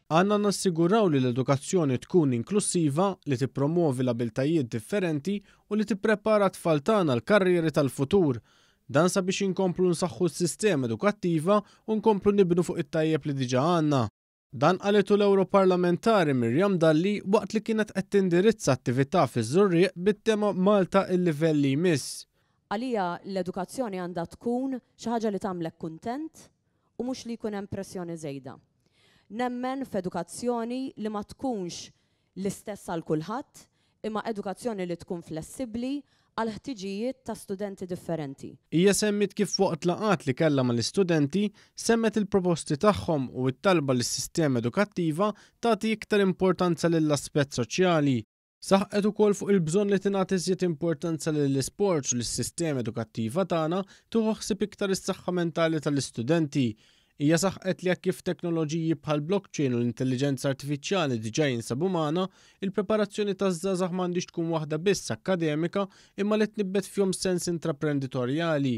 Għandna nassiguraw li l-edukazzjoni tkun inklussiva, li tippromwovi l-abiltajiet differenti u li tipprepara t-tfal tagħna għall-karrieri tal-futur. Dan sabiex inkomplu nsaħħu s-sistema edukattiva u nkomplu nibnu fuq it-tajjeb li diġà għandna. Dan qalitu l-Ewroparlamentari Miriam Dalli waqt li kienet qed tindirizza attività fiż-Żurrieq bit-tema Malta il-livell li jmiss. Għalija l-edukazzjoni għandha tkun xi ħaġa li tagħmlek kuntent u mhux li jkun hemm pressjoni żejda. Nemmen f'edukazzjoni li ma tkunx l-istess għal kulħadd, imma edukazzjoni li tkun flessibbli għall-ħtiġijiet ta' studenti differenti. Hija semmiet kif waqt laqgħat li kellha mal-istudenti, semgħet il-proposti tagħhom u t-talba li s-sistema edukattiva tagħti iktar importanza lill-aspett soċjali. Saħqet ukoll fuq il-bżonn li tingħata iżjed importanza lill-isports u li s-sistema edukattiva tagħna tieħu ħsieb iktar is-saħħa mentali tal-istudenti. Hija saħqet li hekk kif teknoloġiji bħall-blockchain u l-intelliġenza artifiċjali diġà jinsabu magħna, il-preparazzjoni taż-żgħażagħ m'għandhiex tkun waħda biss akkademika imma li tnibbet fihom sens intraprenditorjali.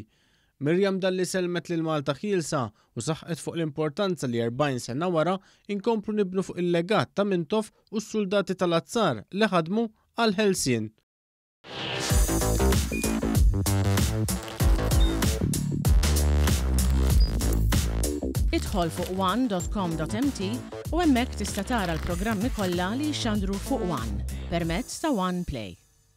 Miriam Dalli sellmet lil Malta Ħielsa u saħqet fuq l-importanza li 40 sena wara inkomplu nibnu fuq il-legat ta' Mintoff u s-suldati tal-azzar li ħadmu għall-ħelsien. Idħol fuq one.com.mt u hemmhekk tista' tara l-programmi kollha li jixxandru fuq One permezz ta' One Play.